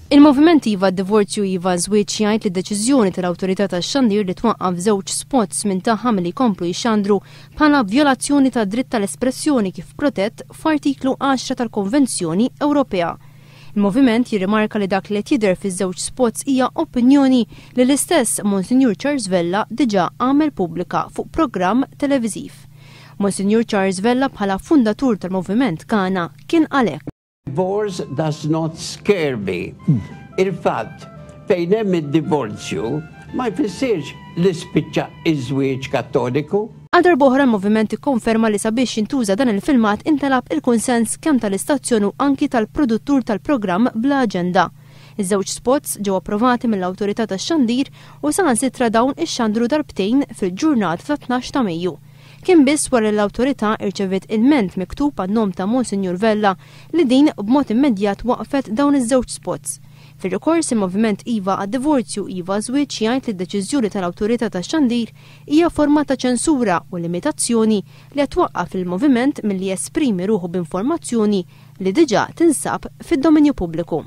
Il-Moviment Iva Divorzju Iva Żwieġ jgħid li d-deċiżjoni tal-Awtorità tax-Xandir li twaqqaf żewġ spots minn tagħha milli jkomplu jxandru bħala vjolazzjoni tad-dritt tal-espressjoni kif protett f'Artiklu 10 tal-Konvenzjoni Ewropea. Il-Moviment jirrimarka li dak li qed jidher fiż-żewġ spots hija opinjoni li l-istess Monsinjur Charles Vella diġà għamel pubblika fuq programm televiżiv. Monsinjur Charles Vella bħala fundatur tal-Moviment Kana kien qal hekk. Divorce does not scare me. Il-fatt fejn hemm id-divorzju ma jfissirx li spiċċa iż-żwieġ Kattoliku. Għal darb'oħra l-Moviment ikkonferma li sabiex jintuża dan il-filmat intalab il-kunsens kemm tal-istazzjon u anki tal-produttur tal-programm Bla Aġenda. Iż-żewġ spots ġew approvati mill-Awtorità tax-Xandir u saħansitra dawn ixxandru darbtejn fil-ġurnata tat-12 ta' Mejju. Kien biss wara li l-Awtorità rċeviet ilment miktub għan-nom ta' Monsinjur Vella li din b'mod immedjat waqqfet dawn iż-żewġ spots. Fir-rikors, il-Moviment Iva għad-Divorzju, Iva għaż-Żwieġ jgħid li d-deċiżjoni tal-Awtorità tax-Xandir hija forma ta' ċensura u limitazzjoni li qed twaqqaf lill-Moviment milli jesprimi ruħu b'informazzjoni li diġà tinsab fid-dominju pubbliku.